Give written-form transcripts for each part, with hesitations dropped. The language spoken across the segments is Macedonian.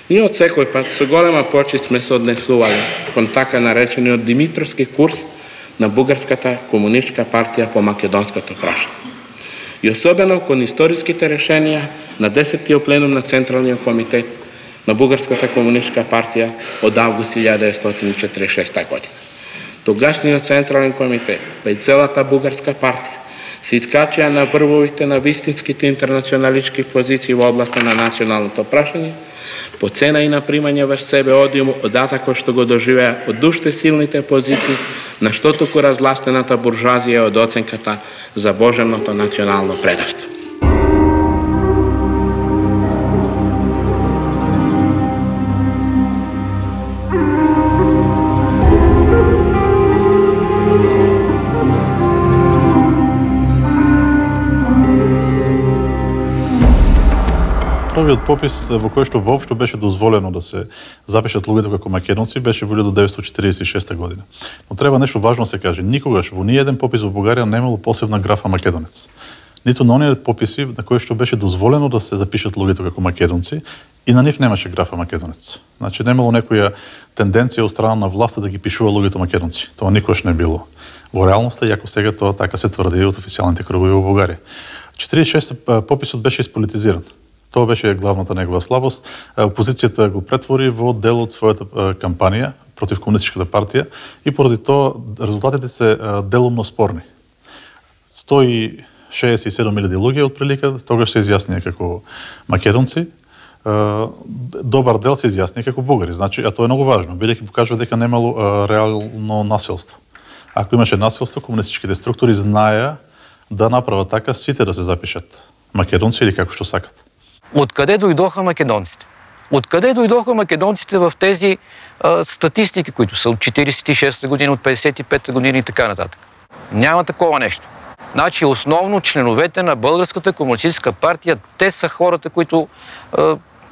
Ние од секој пат со голема почит сме се однесували кон така наречениот Димитровски курс на Бугарската комунистичка партија по македонското прашање. И особено кон историските решенија на 10-тиот пленум на Централниот комитет на Бугарската комунистичка партија од август 1946 година. Тогашниот Централен комитет, па и целата бугарска партија, се искачија на врвовите на вистинските интернационалистички позиции во областа на националното прашање, по цена и на примање врз себе одиум од атакот што го доживеа од уште силните позиции на што туку разластената буржуазија од оценката за боженото национално предавство. Првиот попис во кој што воопшто беше дозволено да се запишат луѓето како македонци беше во 1946 година. Но треба нешто важно се каже. Никогаш во ниеден попис во Бугарија немало посебна графа македонец. Ниту на оние пописи на кои што беше дозволено да се запишат луѓето како македонци и на нив немаше графа македонец. Значи немало некоја тенденција од страна на власта да ги пишува луѓето македонци. Тоа никогаш не било. Во реалноста, иако сега тоа така се тврди од официјалните кругови во Бугарија. 46 пописот беше исполитизиран. Тоа беше главната негова слабост. Опозицијата го претвори во дел од својата кампанија против комунистичката партија и поради тоа резултатите се делумно спорни. 167.000 луѓе отприлика тогаш се изјаснија како македонци. Добар дел се изјаснија како бугари. Значи, а тоа е многу важно, бидејќи покажува дека немало реално насилство. Ако имаше насилство, комунистичките структури знаеа да направат така сите да се запишат македонци или како што сакат. Откъде дойдоха македонците? Откъде дойдоха македонците в тези статистики, които са от 46-та година, от 55-та година и така нататък? Няма такова нещо. Значи, основно членовете на Българската комунистическа партия, те са хората, които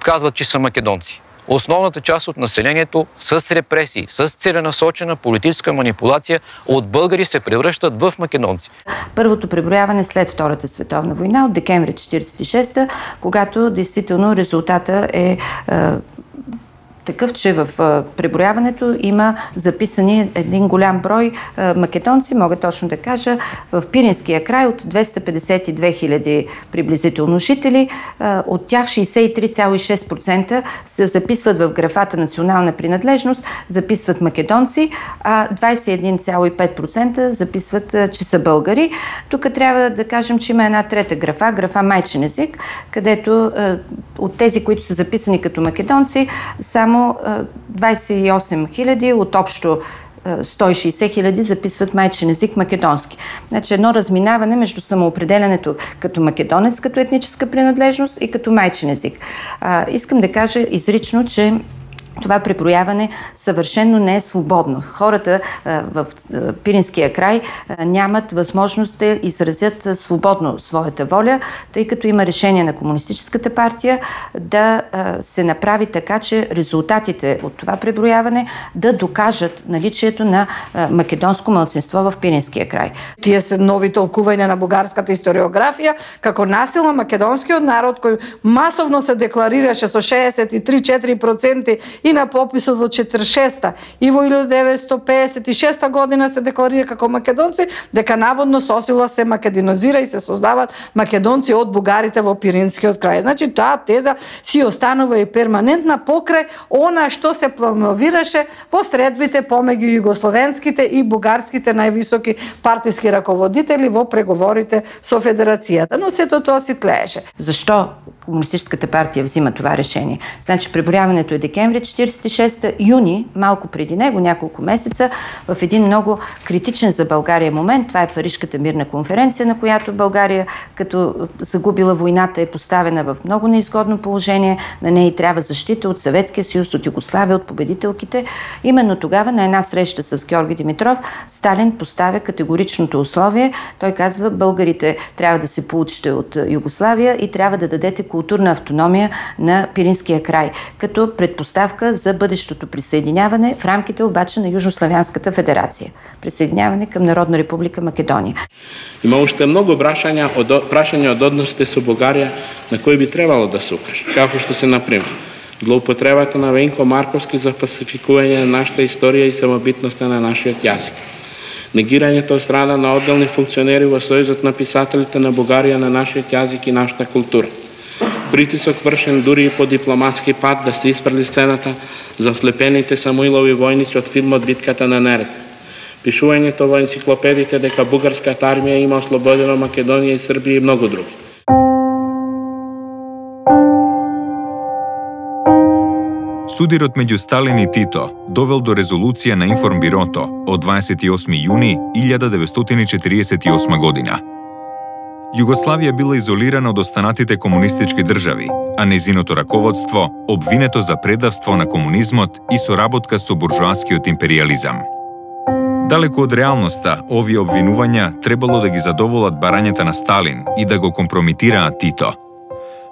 казват, че са македонци. Основната част от населението с репресии, с целенасочена политическа манипулация от българи се превръщат в македонци. Първото преброяване след Втората световна война от декември 1946, когато действително резултата е такъв, че в преброяването има записани един голям брой македонци, мога точно да кажа, в Пиринския край от 252 000 приблизително жители. От тях 63,6% се записват в графата национална принадлежност, записват македонци, а 21,5% записват, че са българи. Тук трябва да кажем, че има една трета графа, графа майчин език, където от тези, които са записани като македонци, само 28 000 от общо 160 000 записват майчин език македонски. Значи едно разминаване между самоопределянето като македонец, като етническа принадлежност и като майчин език. Искам да кажа изрично, че това преброяване съвършено не е свободно. Хората в Пиринския край нямат възможност да изразят свободно своята воля, тъй като има решение на Комунистическата партия да се направи така, че резултатите от това преброяване да докажат наличието на македонско малцинство в Пиринския край. Тие се нови толкувања на бугарската историографија како насилно македонскиот народ кој масовно се декларираше со 63,4% и на пописот во 46-та и во 1956 година се декларира како македонци, дека наводно сосила се македонизира и се создават македонци од бугарите во Пиринскиот крај. Значи таа теза си останува и перманентна покрај она што се промовираше во средбите помеѓу југословенските и бугарските највисоки партиски раководители во преговорите со Федерацијата. Но сето тоа си тлееше. Защо Комунистическата партия взима това решение? Значи преброяването е декември 46 юни, малко преди него, няколко месеца, в един много критичен за България момент. Това е Парижката мирна конференция, на която България, като загубила войната, е поставена в много неизгодно положение. На нея трябва защита от Съветския съюз, от Югославия, от победителките. Именно тогава на една среща с Георги Димитров Сталин поставя категоричното условие. Той казва, българите трябва да се получите от Югославия и трябва да дадете културна автономия на Пиринския край, като предпоставка за бъдещото присъединяване в рамките обаче на Южнославянската федерация. Присъединяване към Народна република Македония. Има още много прашања од односите со Бугарија на кои би требало да се укаже. Како што се, например, злоупотребата на Венко Марковски за фалсификување на нашата историја и самобитноста на нашиот јазик, негирањето од страна на одделни функционери во Сојузот на писателите на Бугарија на нашиот јазик и нашата култура, притисок вршен дури и по дипломатски пат да се испрли сцената за ослепените Самуилови војници од филмот Битката на Нерет, пишувањето во енциклопедите дека бугарската армија има ослободено Македонија и Србија и многу други. Судирот меѓу Сталин и Тито довел до резолуција на Информбирото од 28 јуни 1948 година. Југославија била изолирана од останатите комунистички држави, а незиното раководство обвинето за предавство на комунизмот и соработка со буржоаскиот империализам. Далеку од реалноста, овие обвинувања требало да ги задоволат барањата на Сталин и да го компромитираат Тито.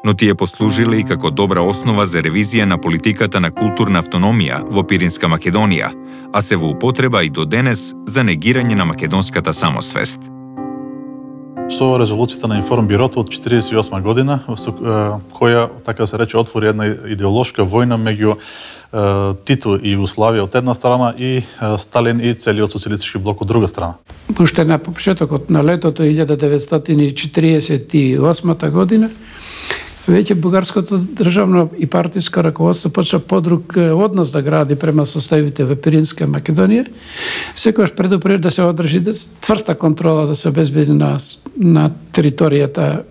Но тие послужиле и како добра основа за ревизија на политиката на културна автономија во Пиринска Македонија, а се во употреба и до денес за негирање на македонската самосвест. Со резолуцијата на Информбирото од 1948 година, која, така се рече, отвори една идеолошка војна меѓу Тито и Југославија од една страна и Сталин и целиот социјалистички блок од друга страна. Уште на почетокот на летото 1948 година, веќе бугарското државно и партиско раководство почна подруг однос да гради према составите во Пиринска Македонија. Секогаш предупрежда да се одржи цврста контрола да се обезбеди на територијата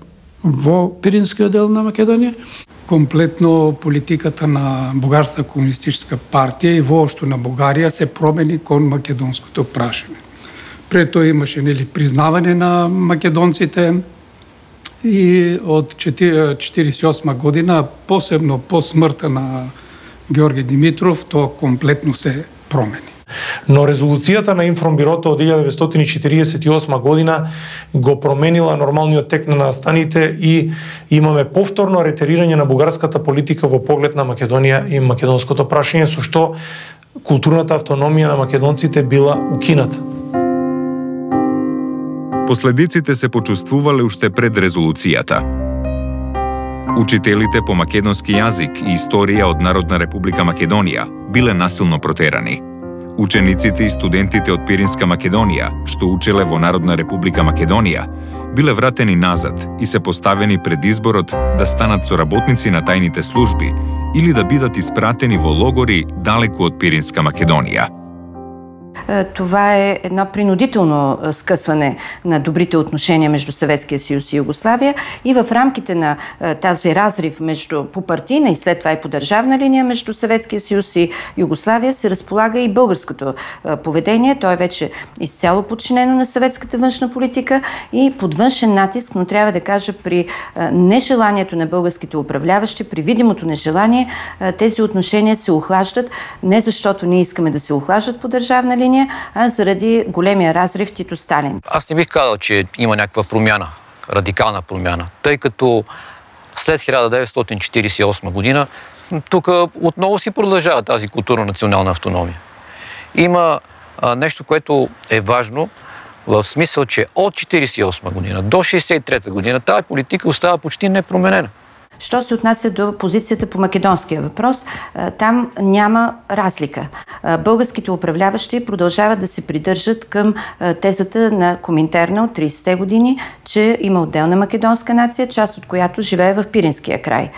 во Пиринскиот дел на Македонија. Комплетно политиката на Бугарска комунистичка партија и воопшто на Бугарија се промени кон македонското прашање. Пред тоа имаше признавање на македонците, и од 1948 година, посебно по смртта на Георги Димитров, тоа комплетно се промени. Но резолуцијата на Информбирото од 1948 година го променила нормалниот тек на настаните и имаме повторно ретерирање на бугарската политика во поглед на Македонија и македонското прашање, со што културната автономија на македонците била укината. Последиците се почувствувале уште пред резолуцијата. Учителите по македонски јазик и историја од Народна република Македонија биле насилно протерани. Учениците и студентите од Пиринска Македонија, што учеле во Народна република Македонија, биле вратени назад и се поставени пред изборот да станат соработници на тајните служби или да бидат испратени во логори далеку од Пиринска Македонија. Това е едно принудително скъсване на добрите отношения между Съветския съюз и Югославия и в рамките на тази разрив между по партийна и след това и по държавна линия между Съветския съюз и Югославия се разполага и българското поведение. То е вече изцяло подчинено на съветската външна политика и под външен натиск, но трябва да кажа при нежеланието на българските управляващи, при видимото нежелание, тези отношения се охлаждат, не защото ние искаме да се охлаждат по държавна линия, а заради големия разрив Тито-Сталин. Аз не бих казал, че има някаква промяна, радикална промяна, тъй като след 1948 година тук отново си продължава тази културно-национална автономия. Има нещо, което е важно, в смисъл, че от 1948 година до 1963 година тази политика остава почти непроменена. Що се отнася до позицията по македонския въпрос, там няма разлика. Българските управляващи продължават да се придържат към тезата на Коминтерна от 30-те години, че има отделна македонска нация, част от която живее в Пиринския край.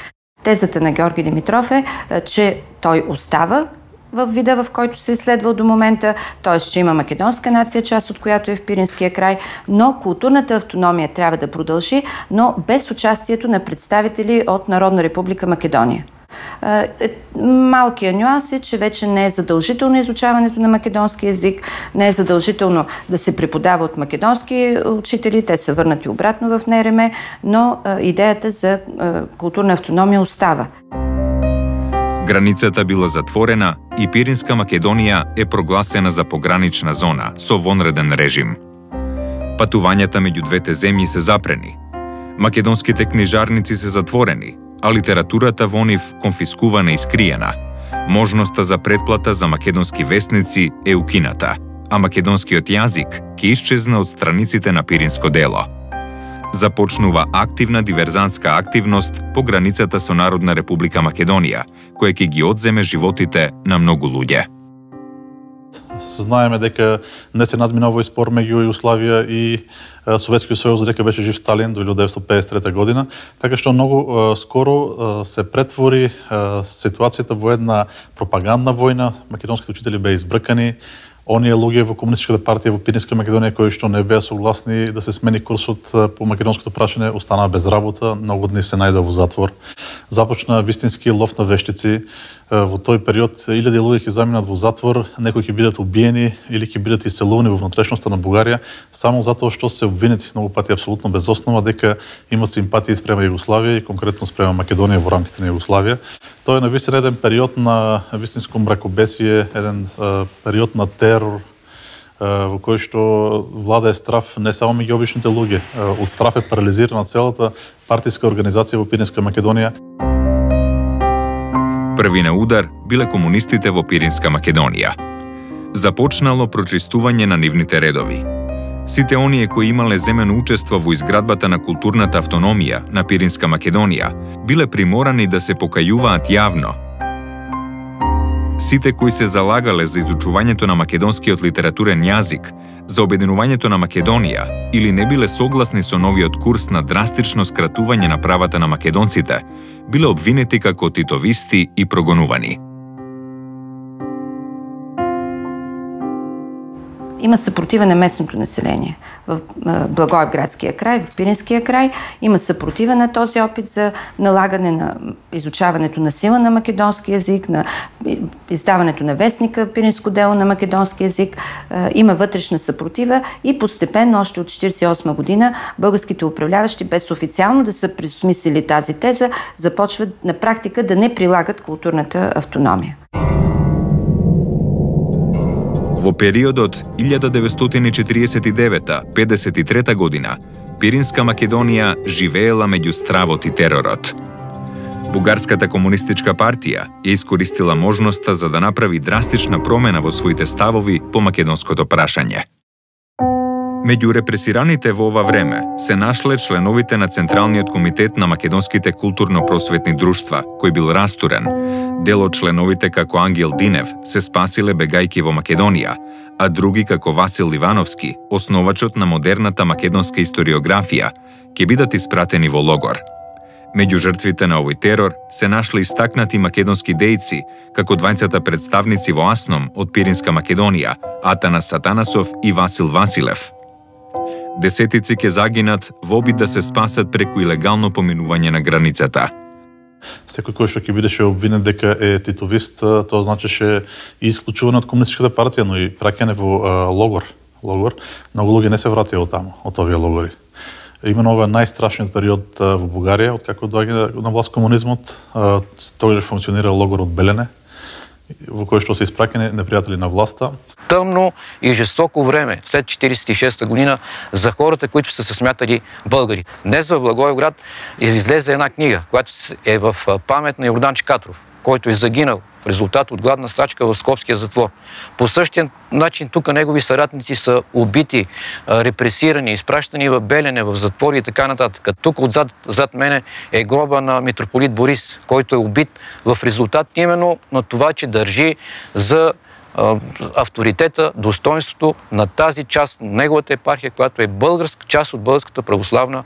Тезата на Георги Димитров е, че той остава в вида, в който се е изследвал до момента, т.е. че има македонска нация, част от която е в Пиринския край, но културната автономия трябва да продължи, но без участието на представители от Народна република Македония. Малкият нюанс е, че вече не е задължително изучаването на македонски език, не е задължително да се преподава от македонски учители, те са върнати обратно в НРМ, но идеята за културна автономия остава. Границата била затворена и Пиринска Македонија е прогласена за погранична зона со вонреден режим. Патувањата меѓу двете земји се запрени. Македонските книжарници се затворени, а литературата во нив конфискувана и скриена. Можноста за претплата за македонски весници е укината, а македонскиот јазик ќе исчезна од страниците на Пиринско дело. Започнува активна диверзантска активност по границата со Народна република Македонија, која ќе ги одземе животите на многу луѓе. Знаеме дека не се надмина овој спор меѓу Југославија и Советскиот сојуз, дека беше жив Сталин до 1953 година, така што многу скоро се претвори ситуацијата во една пропагандна војна. Македонските учители беа избркани. Оние луѓе во Комунистичката партија во Пиринска Македонија кои што не беа согласни да се смени курсот по македонското прашање останаа без работа, многу од нив се најдоа во затвор. Започна вистински лов на вештици. Во тој период илјади луѓе ќе заминат во затвор, некои ќе бидат убиени или ќе бидат иселувани во внатрешноста на Бугарија само затоа што се обвинети многу пати апсолутно без основа дека имат симпатии спрема Југославија и конкретно спрема Македонија во рамките на Југославија. Тоа е навистина еден период на вистинско мракобесие, еден период на терор во кој што влада е страв не само меѓу обичните луѓе, од страв е парализирана целата партиска организација во Пиринска Македонија. Први на удар биле комунистите во Пиринска Македонија. Започнало прочистување на нивните редови. Сите оние кои имале земено учество во изградбата на културната автономија на Пиринска Македонија биле приморани да се покајуваат јавно. Сите кои се залагале за изучувањето на македонскиот литературен јазик, за обединувањето на Македонија или не биле согласни со новиот курс на драстично скратување на правата на македонците, биле обвинети како титовисти и прогонувани. Има съпротива на местното население. В Благоевградския край, в Пиринския край има съпротива на този опит за налагане на изучаването на сила на македонски език, на издаването на вестника Пиринско дело на македонски език. Има вътрешна съпротива и постепенно, още от 1948 година, българските управляващи, без официално да са присмислили тази теза, започват на практика да не прилагат културната автономия. Во периодот 1949-53 година, Пиринска Македонија живеела меѓу стравот и теророт. Бугарската комунистичка партија ја искористила можноста за да направи драстична промена во своите ставови по македонското прашање. Меѓу репресираните во ова време се нашле членовите на Централниот комитет на македонските културно-просветни друштва, кој бил растурен. Дел од членовите како Ангел Динев се спасиле бегајки во Македонија, а други како Васил Ивановски, основачот на модерната македонска историографија, ќе бидат испратени во логор. Меѓу жртвите на овој терор се нашле истакнати македонски дејци, како двајцата представници во Асном од Пиринска Македонија, Атанас Сатанасов и Васил Василев. Десетици ќе загинат во обид да се спасат преку илегално поминување на границата. Секој кој што ќе бидеше обвинет дека е титовист, тоа значеше и исклучување од комунистичката партија, но и праќање во логор. Многу луѓе не се вратија од таму, од овие логори. Именно ова е најстрашниот период во Бугарија, откако доаѓа на власт комунизмот. Тогаш функционира логорот Белене, во кој што се испраќани непријатели на власта. Тъмно и жестоко време след 1946 година за хората, които са се смятали българи. Днес в Благоевград излезе една книга, която е в памет на Йордан Чикатров, който е загинал в резултат от гладна стачка в Скопския затвор. По същия начин тук негови съратници са убити, репресирани, изпращани в Белене, в затвори и така нататък. Тук зад мене е гроба на митрополит Борис, който е убит в резултат именно на това, че държи за авторитета, достоинството на тази част на неговата епархия, която е българска част от Българската православна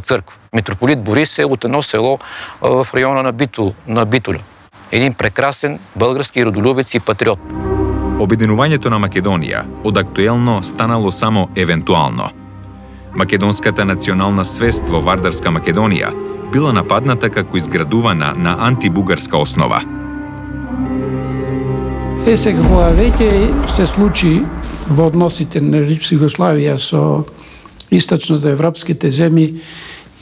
църква. Митрополит Борис е от едно село в района на Битоля. Един прекрасен български родолюбец и патриот. Обединувањето на Македонија од актуелно станало само евентуално. Македонската национална свест во Вардарска Македонија била нападната како изградувана на антибугарска основа. Сега кога веќе се случи во односите на Југославија со источноевропските земји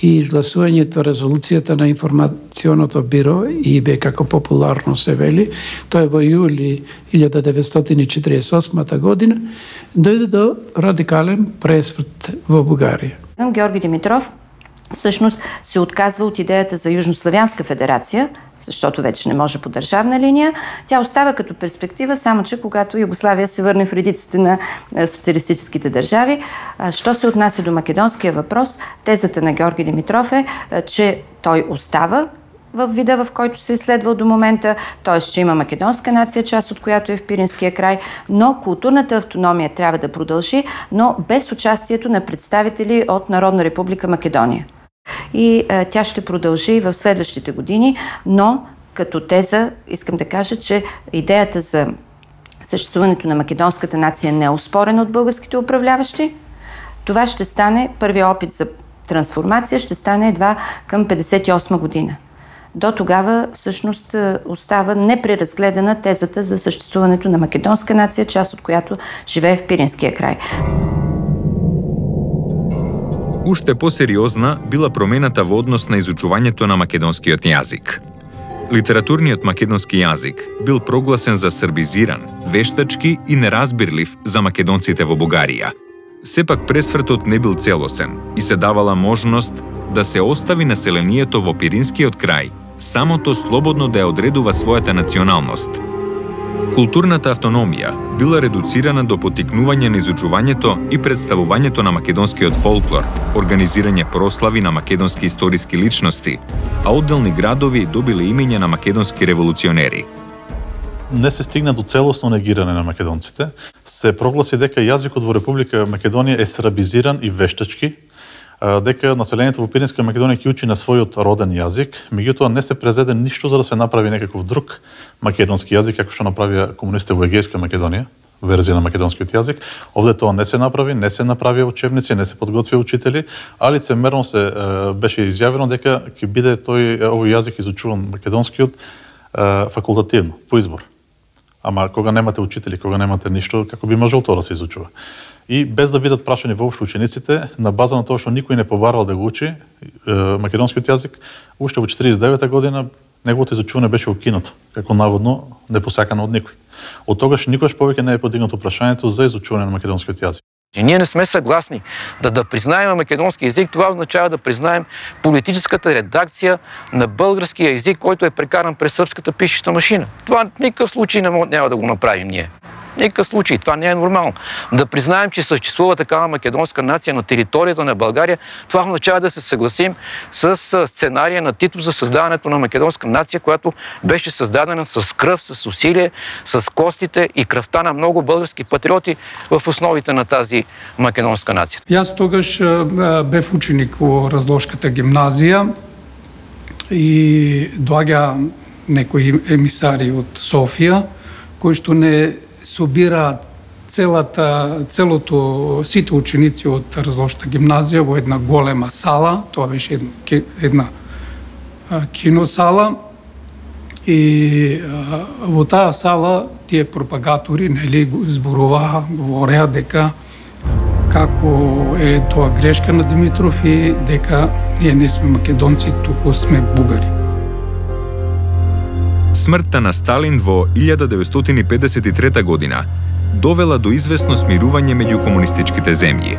и изгласувањето резолуцијата на информационото биро ИБ, како популарно се вели, тоа е во јули 1948 година, дојде до радикален пресврт во Бугарија. Георги Димитров всъщност се отказва от идеята за Южнославянска федерация, защото вече не може по държавна линия. Тя остава като перспектива, само че когато Югославия се върне в редиците на социалистическите държави. Що се отнася до македонския въпрос, тезата на Георги Димитров е, че той остава в вида, в който се е изследвал до момента, т.е. че има македонска нация, част от която е в Пиринския край, но културната автономия трябва да продължи, но без участието на представители от Народна република Македония. И тя ще продължи в следващите години, но като теза искам да кажа, че идеята за съществуването на македонската нация не е оспорена от българските управляващи. Това ще стане, първият опит за трансформация ще стане едва към 1958 година. До тогава всъщност остава непреразгледана тезата за съществуването на македонска нация, част от която живее в Пиринския край. Уште посериозна била промената во однос на изучувањето на македонскиот јазик. Литературниот македонски јазик бил прогласен за србизиран, вештачки и неразбирлив за македонците во Бугарија. Сепак пресвртот не бил целосен и се давала можност да се остави населението во Пиринскиот крај самото слободно да ја одредува својата националност. Културната автономија била редуцирана до поттикнување на изучувањето и представувањето на македонскиот фолклор, организирање прослави на македонски историски личности, а одделни градови добиле имења на македонски револуционери. Не се стигна до целосно негирање на македонците. Се прогласи дека јазикот во Република Македонија е срабизиран и вештачки, дека населението во Пиринска Македонија ќе учи на својот роден јазик, меѓутоа не се презеде ништо за да се направи некаков друг македонски јазик, како што направија комунистите во Егејска Македонија, верзија на македонскиот јазик. Овде тоа не се направи, не се направија учебници, не се подготвија учители, а лицемерно се беше изјавено дека ќе биде овој јазик изучуван македонскиот факултативно, по избор. Ама кога немате учители, кога немате ништо, како би можел тоа да се изучува? И без да бидат прашани воопшто учениците, на база на тоа што никој не побарал да го учи македонскиот јазик, уште во 49 година неговото изучување беше укинато, како наводно непосакано од никој. Од тогаш никогаш повеќе не е подигнато прашањето за изучување на македонскиот јазик. Ние не сме съгласни да признаем македонски език. Това означава да признаем политическата редакция на българския език, който е прекаран през сръбската пишеща машина. Това в никакъв случай няма да го направим ние. В никакъв случай. Това не е нормално. Да признаем, че съществува такава македонска нация на територията на България, това означава да се съгласим с сценария на Тито за създаването на македонска нация, която беше създадена с кръв, с усилие, с костите и кръвта на много български патриоти в основите на тази македонска нация. Јас тогаш бев ученик во Разложката гимназија и доаѓа некои емисари од Софија, кои што не собираат целото сите ученици од Разложката гимназија во една голема сала, тоа беше една киносала, и во таа сала тие пропагатори зборуваа, говореа дека како е тоа грешка на Димитров и дека ние не сме македонци, туку сме бугари. Смртта на Сталин во 1953 година довела до известно смирување меѓу комунистичките земји.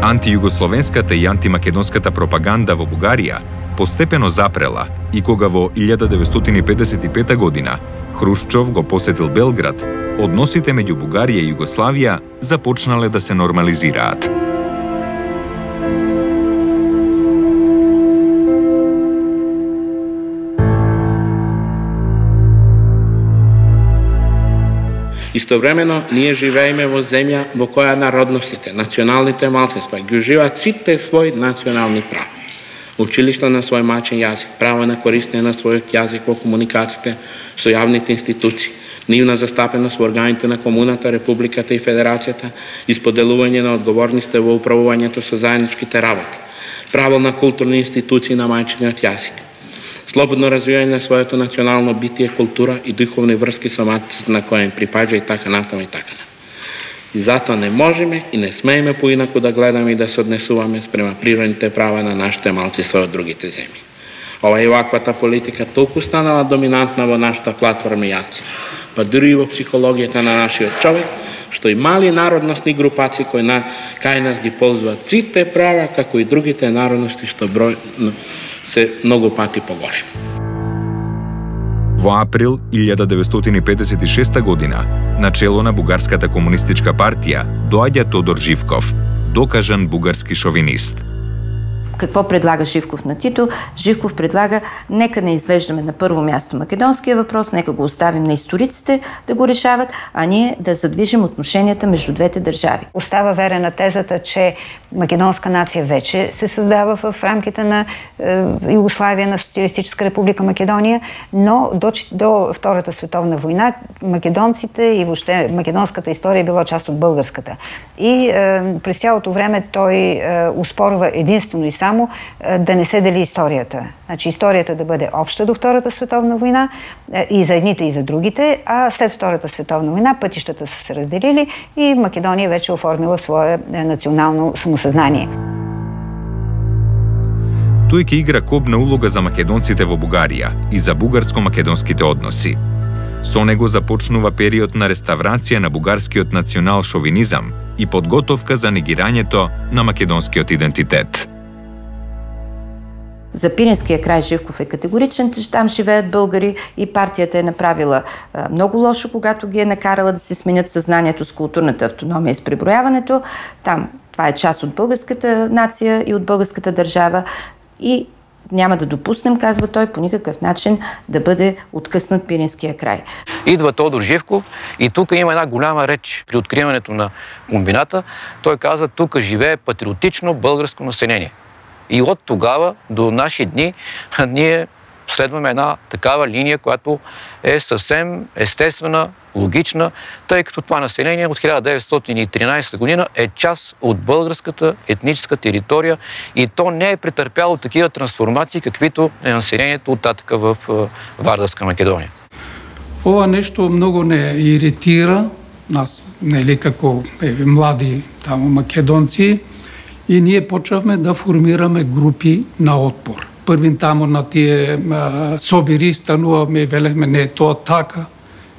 Антијугословенската и антимакедонската пропаганда во Бугарија постепено запрела и кога во 1955 година Хрушчов го посетил Белград, односите меѓу Бугарија и Југославија започнале да се нормализираат. Истовремено, ние живееме во земја во која народностите, националните малцинства ги уживаат сите своји национални права. Училишта на свој мачен јазик, право на користење на својот јазик во комуникациите со јавните институции, нивна застапеност во органите на комуната, републиката и федерацијата, исподелување на одговорностите во управувањето со заедничките работи, право на културни институции на мајчиниот јазик, слободно развивање на своето национално битие, култура и духовни врски со матицата на која им припаѓа и така натаму и така натаму. И затоа не можеме и не смееме поинаку да гледаме и да се однесуваме спрема природните права на нашите малцинства од другите земји. Ова и оваквата политика толку станала доминантна во нашата платформа јаци, па дури и во психологијата на нашиот човек, што и мали народностни групаци кои кај нас ги ползуваат сите права, како и другите народности што број се многу пати погоре. Во април 1956 година, на чело на Бугарската комунистичка партија, доаѓа Тодор Живков, докажан бугарски шовинист. Какво предлага Живков на Тито? Живков предлага, нека не извеждаме на първо място македонския въпрос, нека го оставим на историците да го решават, а ние да задвижим отношенията между двете държави. Остава верен на тезата, че македонска нация вече се създава в рамките на Югославия, на Социалистическа република Македония, но до Втората световна война македонците и въобще македонската история е била част от българската. И през цялото време той успорва единствено и само да не се дели историята. Значи историята да бъде обща до Втората световна война и за едните и за другите, а след Втората световна война пътищата са се разделили и Македония вече оформила свое национално самосъзнание. Тој ќе игра кобна улога за македонците во Бугарија и за бугарско-македонските односи. Со него започнува период на реставрација на бугарскиот национал-шовинизам и подготовка за негирањето на македонскиот идентитет. За Пиринския край Живков е категоричен, че там живеят българи и партията е направила много лошо, когато ги е накарала да се сменят съзнанието с културната автономия и с преброяването. Там това е част от българската нация и от българската държава и няма да допуснем, казва той, по никакъв начин да бъде откъснат Пиринския край. Идва Тодор Живков и тук има една голяма реч при откриването на комбината. Той казва, тук живее патриотично българско население. И от тогава до наши дни ние следваме една такава линия, която е съвсем естествена, логична, тъй като това население от 1913 година е част от българската етническа територия и то не е претърпяло такива трансформации, каквито е населението оттатъка в Вардарска Македония. Ова нещо много не иритира нас, нели, како млади тамо македонци, и ние почнавме да формираме групи на отпор. Првин тамо на тие собири стануваме и велехме, не е тоа така.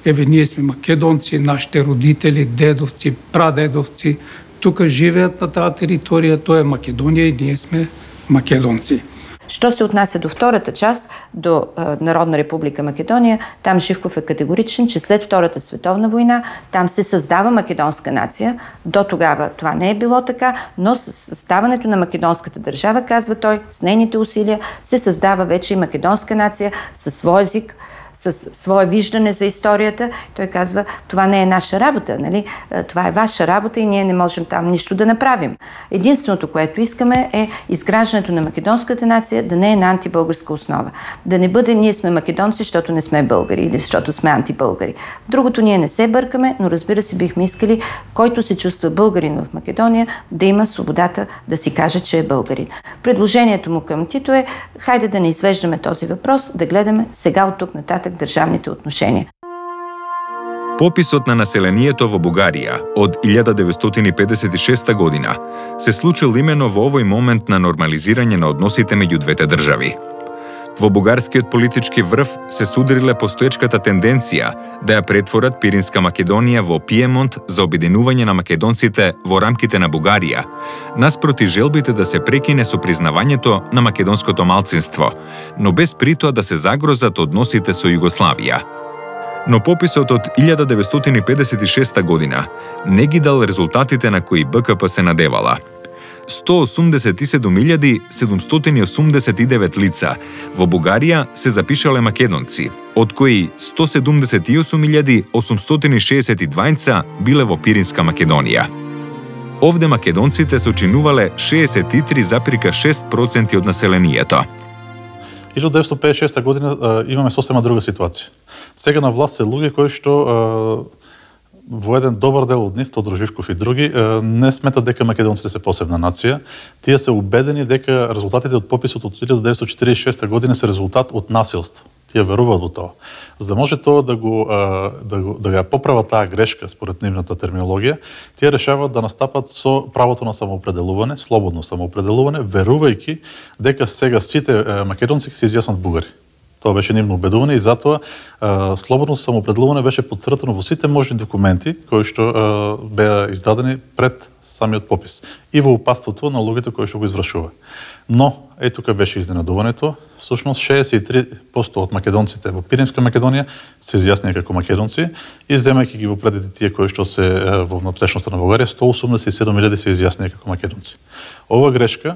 Еве, ние сме македонци, нашите родители, дедовци, прадедовци, тука живеят на тази територия, тоа е Македония и ние сме македонци. Що се отнася до втората част, до Народна република Македония, там Живков е категоричен, че след Втората световна война там се създава македонска нация. До тогава това не е било така, но с създаването на македонската държава, казва той, с нейните усилия се създава вече и македонска нация със свой език, със свое виждане за историята. Той казва, това не е наша работа, нали? Това е ваша работа и ние не можем там нищо да направим. Единственото, което искаме е изграждането на македонската нация да не е на антибългарска основа. Да не бъде ние сме македонци, защото не сме българи или защото сме антибългари. Другото ние не се бъркаме, но разбира се бихме искали, който се чувства българин в Македония, да има свободата да си каже, че е българин. Предложението му към Тито е, хайде да не извеждаме този въпрос, да гледаме сега от тук нататък државните отношения. Пописот на населението во Бугарија од 1956 година се случил именно во овој момент на нормализирање на односите меѓу двете држави. Во бугарскиот политички врв се судриле постоечката тенденција да ја претворат Пиринска Македонија во Пиемонт за обединување на македонците во рамките на Бугарија, наспроти желбите да се прекине со признавањето на македонското малцинство, но без при тоа да се загрозат односите со Југославија. Но пописот од 1956 година не ги дал резултатите на кои БКП се надевала. 187.789 лица во Бугарија се запишале македонци, од кои 178.862 биле во Пиринска Македонија. Овде македонците сочинувале 63,6% од населението. 1956 година имаме сосема друга ситуација. Сега на власт се луѓе кои што во еден добар дел од нив, Тодор Живков и други, не сметат дека македонците се посебна нација. Тие се убедени дека резултатите од пописот од 1946 година се резултат од насилство. Тие веруваат во тоа. За да може тоа да ја поправат таа грешка според нивната терминологија, тие решаваат да настапат со правото на самоопределување, слободно самоопределување, верувајќи дека сега сите македонци ќе се изјаснат бугари. Тоа беше нивно убедување и затоа слободно самоопределување беше потцртано во сите можни документи кои што беа издадени пред самиот попис и во упатството на луѓето кои што го извршува. Но, тука беше изненадувањето, всушност 63% од македонците во Пиринска Македонија се изјаснија како македонци и земајќи ги во предите тие кои што се во внатрешноста на Бугарија, 187.000 се изјаснија како македонци. Ова грешка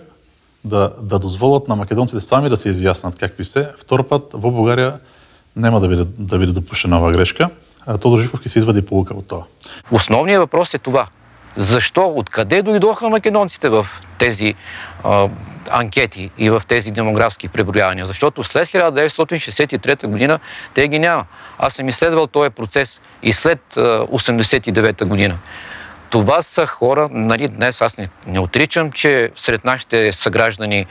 да дозволат на македонците сами да се изјаснат какви се, втор пат во Бугарија нема да биде допуштена оваа грешка. Тодор Живковски се извади поука од тоа. Основният въпрос е това. Защо, откъде дойдоха македонците в тези анкети и в тези демографски преброявания? Защото след 1963 година те ги няма. Аз съм изследвал този процес и след 1989 година. Това са хора, нали, днес аз не отричам, че сред нашите съграждани,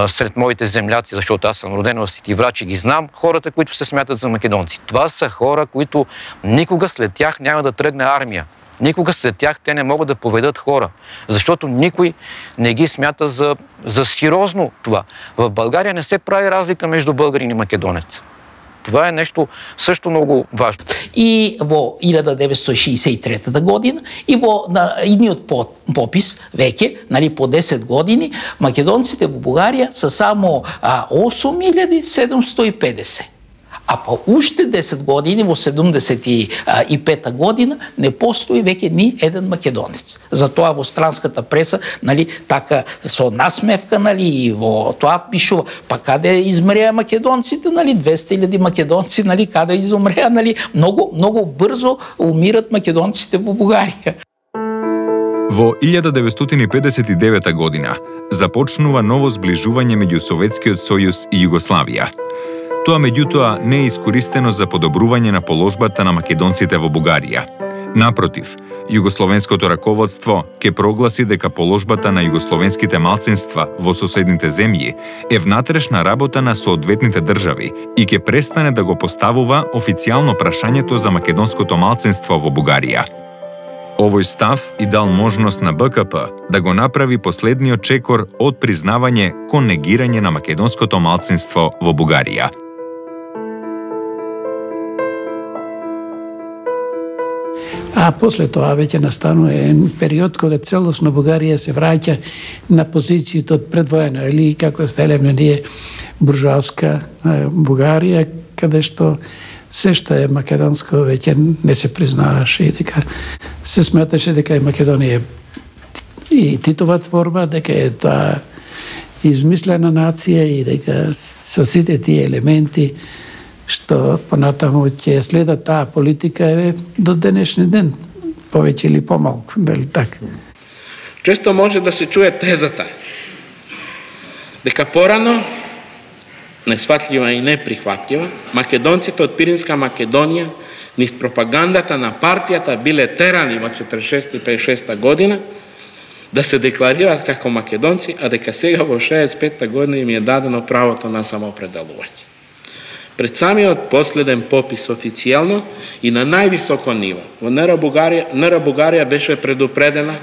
сред моите земляци, защото аз съм роден в Ситиврачи и ги знам, хората, които се смятат за македонци. Това са хора, които никога след тях няма да тръгне армия. Никога след тях те не могат да поведат хора, защото никой не ги смята за сериозно това. В България не се прави разлика между българин и македонец. Това е нещо също много важно. И во 1963 година и во идниот попис веќе, нали, по 10 години, македонците во Бугарија са само 8750. А по уште 10 години, во 75 година, не постои веќе ни еден македонец. Затоа во странската преса, нали, така со насмевка, нали, и во тоа пишува, па каде измреа македонците, нали, 200.000 македонци, нали, каде изумреа, нали, много брзо умират македонците во Бугарија. Во 1959 година започнува ново зближување меѓу Советскиот сојуз и Југославија. Тоа меѓутоа не е искористено за подобрување на положбата на македонците во Бугарија. Напротив, југословенското раководство ќе прогласи дека положбата на југословенските малцинства во соседните земји е внатрешна работа на соодветните држави и ќе престане да го поставува официјално прашањето за македонското малцинство во Бугарија. Овој став и дал можност на БКП да го направи последниот чекор од признавање кон негирање на македонското малцинство во Бугарија. А после тоа веќе настанува период кога целосно Бугарија се враќа на позициите од предвоена, или како велевме ние буржуазска Бугарија, каде што се што е македонско веќе не се признаваше и дека се сметаше дека е Македонија и Титова творба, дека е тоа измислена нација и дека со сите тие елементи што понатаму ќе следат таа политика е до денешни ден, повеќе или помалку, дали така? Често може да се чуе тезата дека порано, несватлива и неприхватлива, македонците од Пиринска Македонија низ пропагандата на партијата биле терани во 46 и 56 година да се декларираат како македонци, а дека сега во 65 година им е дадено правото на самоопределување. Пред самиот последен попис официјално и на највисоко ниво, во НР Бугарија беше предупредена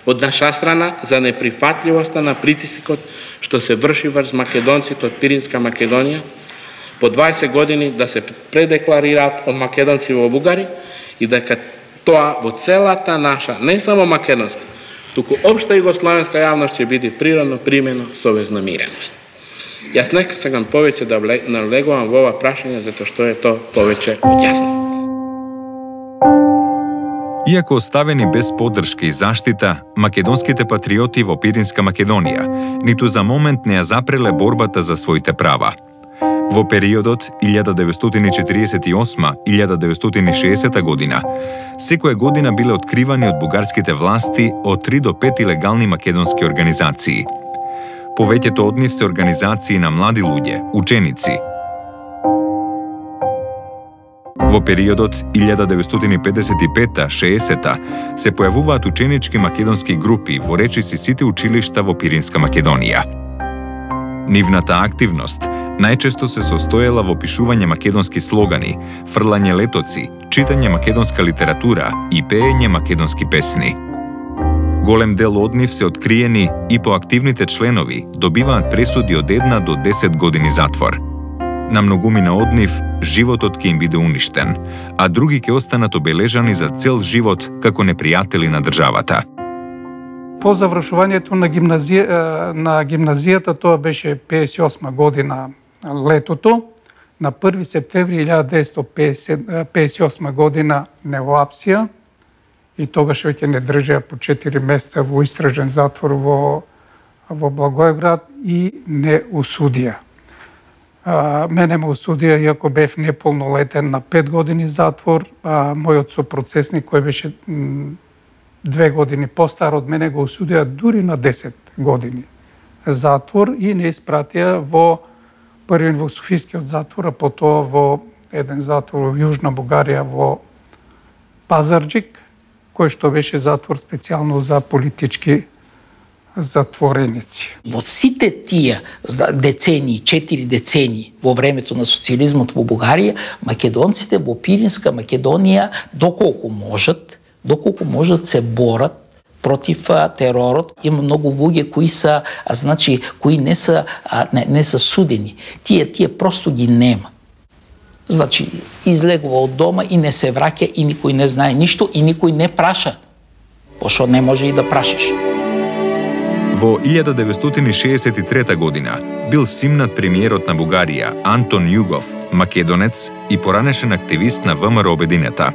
од наша страна за неприфатливоста на притисокот што се врши врз македонците од Пиринска Македонија по 20 години да се предекларираат од македонци во Бугарија и дека тоа во целата наша, не само македонска, туку општа југословенска јавност ќе биде природно примено со вознамиреност. Јас нека сакам повеќе да налегувам во ова прашање, затоа што е тоа повеќе од јасно. Иако оставени без поддршка и заштита, македонските патриоти во Пиринска Македонија ниту за момент не ја запреле борбата за своите права. Во периодот 1948-1960 година, секоја година биле откривани од бугарските власти од 3 до 5 илегални македонски организации. Повеќето од нив се организации на млади луѓе, ученици. Во периодот 1955-60 се појавуваат ученички македонски групи во речиси сите училишта во Пиринска Македонија. Нивната активност најчесто се состоела во пишување македонски слогани, фрлање летоци, читање македонска литература и пеење македонски песни. Голем дел од нив се откриени и поактивните членови добиваат пресуди од 1 до 10 години затвор. На многумина од нив животот ќе им биде уништен, а други ќе останат обележани за цел живот како непријатели на државата. По завршувањето на гимназијата, тоа беше 58 година летото, на 1 септември 1958 година неоапсија и тогаш веќе не држеа по 4 месеца во истражен затвор во Благоевград и не осудија. Мене ме осудија, иако бев неполнолетен, на 5 години затвор, а мојот сопроцесник, кој беше 2 години постар од мене, го осудија дури на 10 години затвор и не испратија првен во Софискиот затвор, а потоа во еден затвор во Јужна Бугарија во Пазарџик, кој што беше затвор специјално за политички затвореници. Во сите тие децении, 4 децении во времето на социјализмот во Бугарија, македонците во Пиринска Македонија доколку можат се борат против теророт. Има многу луѓе кои се, кои не се судени. Тие просто ги нема. Излегува од дома и не се враќа и никој не знае ништо и никој не праша. Пошто не може и да прашаш. Во 1963 година бил симнат премиерот на Бугарија Антон Југов, македонец и поранешен активист на ВМРО Обединета.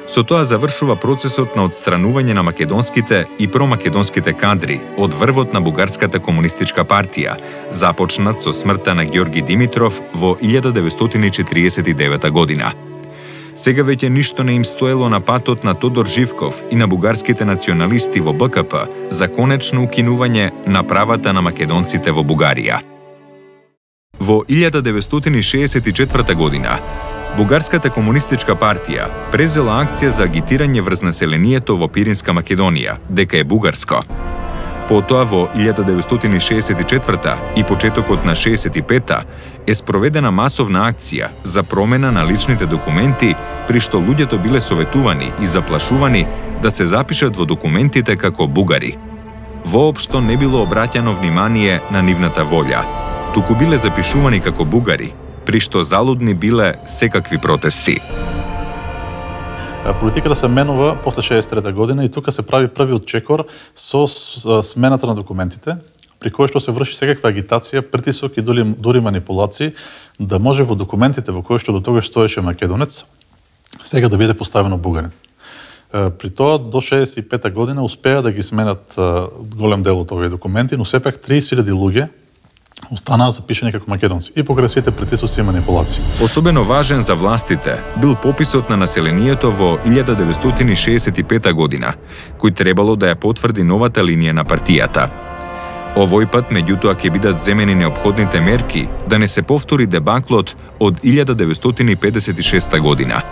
Со тоа завршува процесот на отстранување на македонските и промакедонските кадри од врвот на Бугарската комунистичка партија, започнат со смртта на Ѓорги Димитров во 1949 година. Сега веќе ништо не им стоело на патот на Тодор Живков и на бугарските националисти во БКП за конечно укинување на правата на македонците во Бугарија. Во 1964 година Бугарската комунистичка партија презела акција за агитирање врз населението во Пиринска Македонија, дека е бугарско. Потоа во 1964 и почетокот на 65-та е спроведена масовна акција за промена на личните документи, при што луѓето биле советувани и заплашувани да се запишат во документите како бугари. Воопшто не било обраќано внимание на нивната волја, туку биле запишувани како бугари, при што залудни биле секакви протести. Политиката се менува после 63 година и тука се прави првиот чекор со смената на документите, при кој што се врши секаква агитација, притисок и дури манипулации, да може во документите во кои што до тогаш стоеше македонец, сега да биде поставено бугарин. При тоа до 65 година успеа да ги сменат голем дел од овие документи, но сепак 30.000 луѓе останаа запишани како македонци и покрај сите притисоци и манипулации. Особено важен за властите бил пописот на населението во 1965 година, кој требало да ја потврди новата линија на партијата. Овој пат, меѓутоа, ќе бидат земени неопходните мерки да не се повтори дебаклот од 1956 година.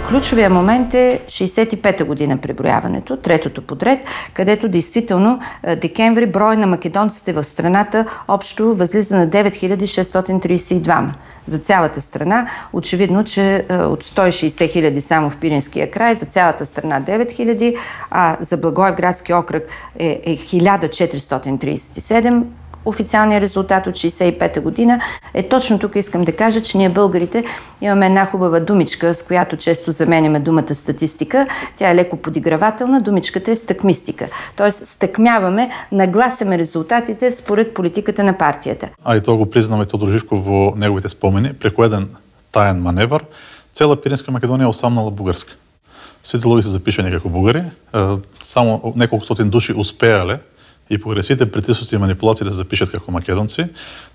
Ключовият момент е 65-та година преброяването, третото подред, където действително декември брой на македонците в страната общо възлиза на 9632 за цялата страна. Очевидно, че от 160 хиляди само в Пиринския край, за цялата страна 9000, а за Благоевградски окръг е 1437. Официалният резултат от 65-та година е точно тук. Искам да кажа, че ние българите имаме една хубава думичка, с която често заменяме думата статистика. Тя е леко подигравателна. Думичката е стъкмистика. Тоест стъкмяваме, нагласяме резултатите според политиката на партията. А и тоа го признаме Тодор Живков во неговите спомени. Преку еден таен маневр, цела Пиринска Македонија осамнала бугарска. Сите луѓе се запишани како бугари, само неколку стотин души успеале и покрај сите притисоци и манипулации да се запишат како македонци.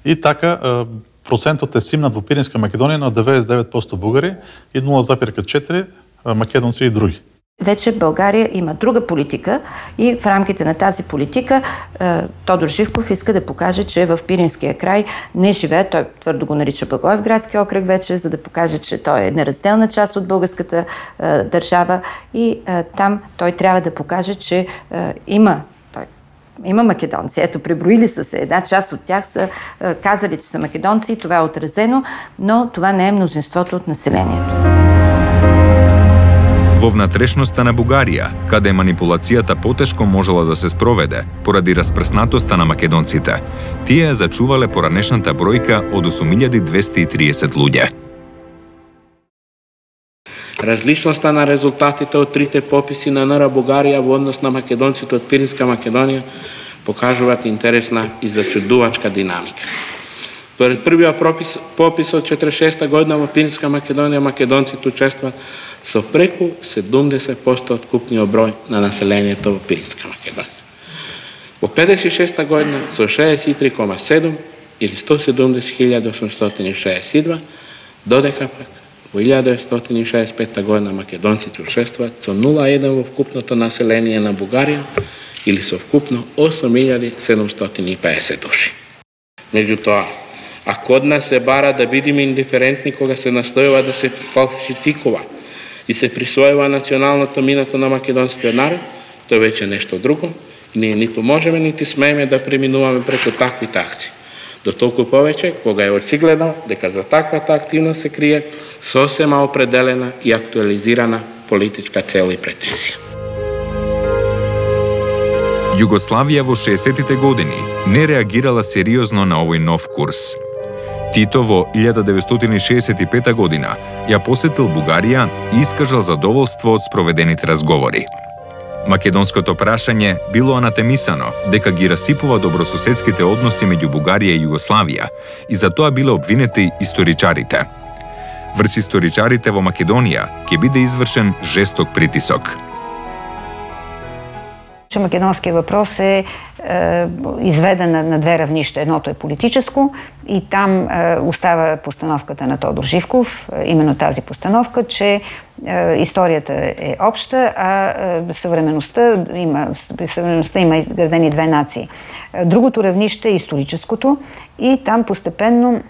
И така, процентот е симнат во Пиринска Македонија на 99% бугари и 0,4% македонци и други. Вече България има друга политика и в рамките на тази политика Тодор Живков иска да покаже, че в Пиринския край не живее, той твърдо го нарича Благоевградски окръг вече, за да покаже, че той е неразделна част от българската държава и там той трябва да покаже, че има македонци. Ето, преброили са се. Една част от тях са казали, че са македонци и това е отразено, но това не е мнозинството от населението. Во внатрешноста на Бугарија, каде манипулацијата потешко можела да се спроведе поради распрснатоста на македонците, тие ја зачувале поранешната бројка од 8230 луѓе. Различноста на резултатите од трите пописи на НР Бугарија во однос на македонците од Пиринска Македонија покажуваат интересна и зачудувачка динамика. Според првиот попис од 46 година во Пиринска Македонија македонците учествуваат со преку 70% од купниот број на населението во Пиринска Македонија. Во 56 година со 63,7 или 170.862, додека пак во 1965 година македонците учествуваат со 0,1 во вкупното население на Бугарија или со вкупно 8.750 души. Меѓутоа, а код нас се бара да бидеме индиферентни кога се настојува да се фалсификува и се присвојува националното минато на македонскиот народ, тоа веќе нешто друго. Ние ниту можеме, нити смееме да преминуваме преку таквите акции. До толку повеќе, кога е очигледно дека за таквата активност се крие сосема определена и актуализирана политичка цел и претензија. Југославија во 60-тите години не реагирала сериозно на овој нов курс. Тито во 1965 година ја посетил Бугарија и искажал задоволство од спроведените разговори. Македонското прашање било анатемисано дека ги расипува добрососедските односи меѓу Бугарија и Југославија и за тоа биле обвинети историчарите. Врз историчарите во Македонија ќе биде извршен жесток притисок. Македонският въпрос е изведен на две равнища. Едното е политическо и там остава постановката на Тодор Живков, именно тази постановка, че историята е обща, а съвременността има изградени две нации. Другото равнище е историческото и там постепенно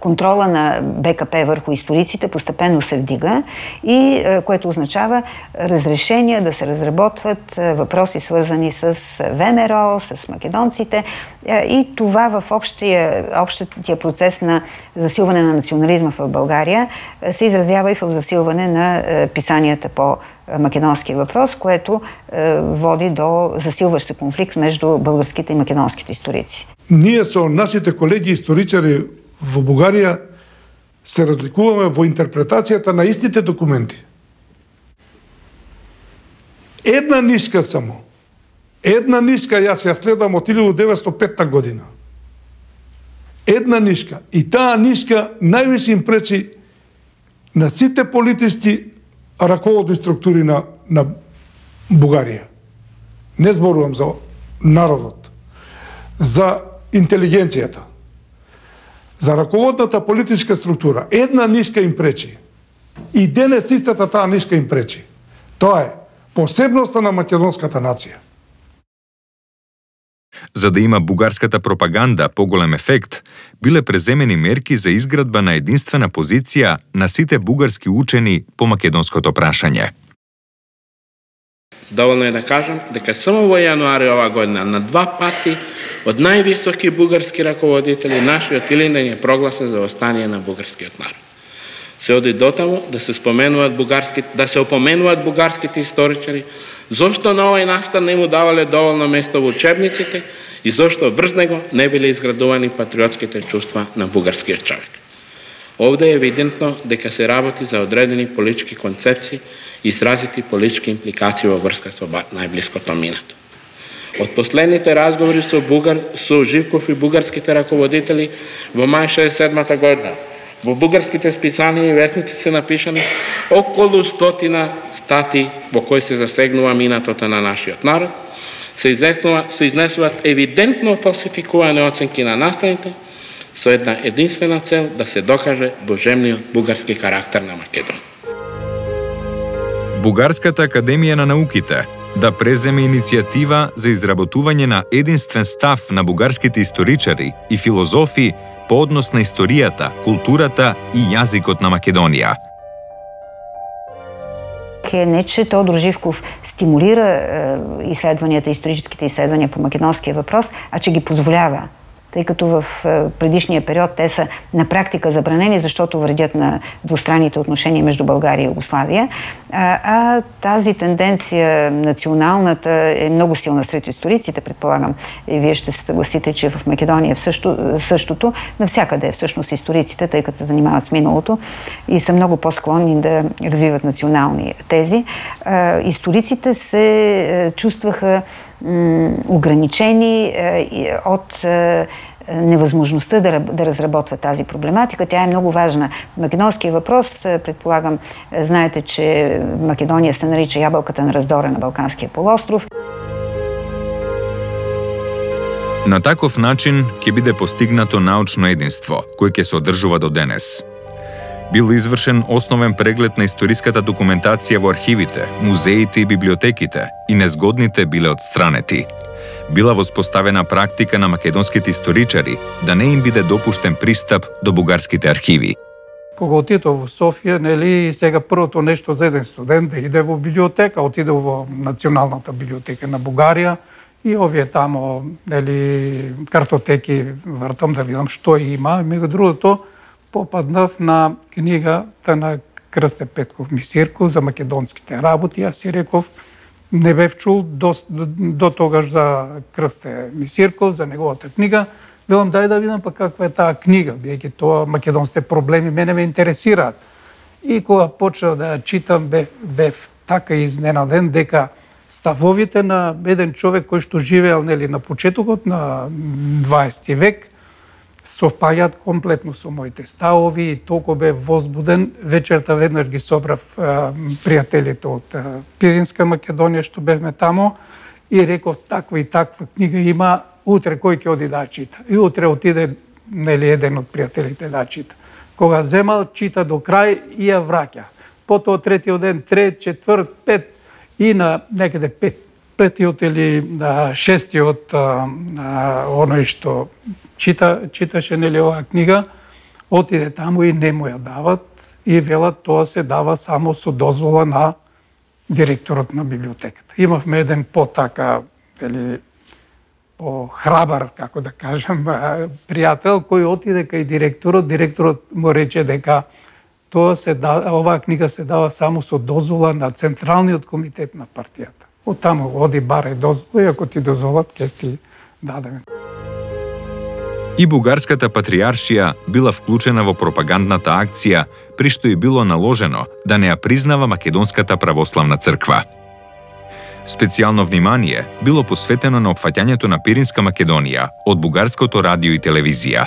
контрола на БКП върху историците постепенно се вдига и което означава разрешения да се разработват въпроси свързани с ВМРО, с македонците и това в общия процес на засилване на национализма в България се изразява и в засилване на писанията по македонския въпрос, което води до засилващ се конфликт между българските и македонските историци. Ние со нашите колеги историчари во Бугарија се разликуваме во интерпретацијата на истите документи. Една нишка само. Една нишка јас ја следам од 1905 година. Една нишка. И таа нишка највише им пречи на сите политички раководни структури на Бугарија. Не зборувам за народот, за интелигенцијата, за раководната политичка структура. Една нишка им пречи. И денес истата таа нишка им пречи. Тоа е посебноста на македонската нација. За да има бугарската пропаганда поголем ефект, биле преземени мерки за изградба на единствена позиција на сите бугарски учени по македонското прашање. Доволно е да кажам дека само во јануари ова година на 2 пати од највисоки бугарски раководители нашиот Илинден е прогласен за восстание на бугарскиот народ. Се оди дотаму да се опоменуваат бугарските историчари зошто на овој настан не му давале доволно место во учебниците и зошто врз него не биле изградувани патриотските чувства на бугарскиот човек. Овде е евидентно дека се работи за одредени политички концепции и изразити политички импликации во врска со најблиското минато. Од последните разговори со Живков и бугарските раководители во мај 67 година, во бугарските списанија и вестници се напишани околу 100 стати во кои се засегнува минатото на нашиот народ, се изнесуваат евидентно фалсификувани оценки на настаните со една единствена цел да се докаже божемниот бугарски карактер на Македонија. Бугарската академија на науките да преземе иницијатива за изработување на единствен став на бугарските историчари и филозофи по однос на историјата, културата и јазикот на Македонија. Не, че Тодор Живков стимулира изследванията, историческите изследвания по македонския въпрос, а че ги позволява. тъй като в предишния период те са на практика забранени, защото вредят на двустранните отношения между България и Югославия. А тази тенденция, националната, е много силна сред историците, предполагам. И вие ще се съгласите, че в Македония е същото. Навсякъде всъщност историците, тъй като се занимават с миналото и са много по-склонни да развиват национални тези. Историците се чувстваха ограничени от невъзможността да разработва тази проблематика. Тя е много важна. Македонския въпрос, предполагам, знаете, че Македония се нарича ябълката на раздора на Балканския полуостров. На таков начин ќе биде постигнато научно единство, кој ќе се одржува до денес. Бил извршен основен преглед на историската документација во архивите, музеите и библиотеките и незгодните биле отстранети. Била воспоставена практика на македонските историчари да не им биде допуштен пристап до бугарските архиви. Кога отидов во Софија, нели, сега првото нешто за еден студент да иде во библиотека, отидов во Националната библиотека на Бугарија и овие тамо, нели, картотеки вртам да видам што има. Меѓу другото, попаднав на книгата на Крсте Петков Мисирков за македонските работи. Аз си реков, не бев чул до тогаш за Крсте Мисирков, за неговата книга. Велам, дај да видам па каква е таа книга, бидејќи тоа македонските проблеми мене ме интересираат. И кога почнав да ја читам, бев така изненаден дека ставовите на еден човек кој што живеел, нели, на почетокот на 20 век, совпаѓаат комплетно со моите ставови и толку бев возбуден. Вечерта веднаш ги собрав пријателите од Пиринска Македонија што бевме тамо и реков, таква и таква книга има, утре кој ќе оди да чита. И утре отиде, нели, еден од пријателите да чита. Кога земал, чита до крај и ја враќа. Потоа третиот ден, трет, четврт, пет и на некаде петиот или шестиот оној што читаше, нели, оваа книга, отиде таму и не му ја дават и велат тоа се дава само со дозвола на директорот на библиотеката. Имавме еден по-така, нели, по-храбар, како да кажам, пријател кој отиде кај директорот му рече дека оваа книга се дава само со дозвола на Централниот комитет на партијата. Од таму оди барај дозвола и ако ти дозволат, ќе ти дадеме. И бугарската патриаршија била вклучена во пропагандната акција, при што и било наложено да не ја признава Македонската православна црква. Специјално внимание било посветено на опфаќањето на Пиринска Македонија од бугарското радио и телевизија.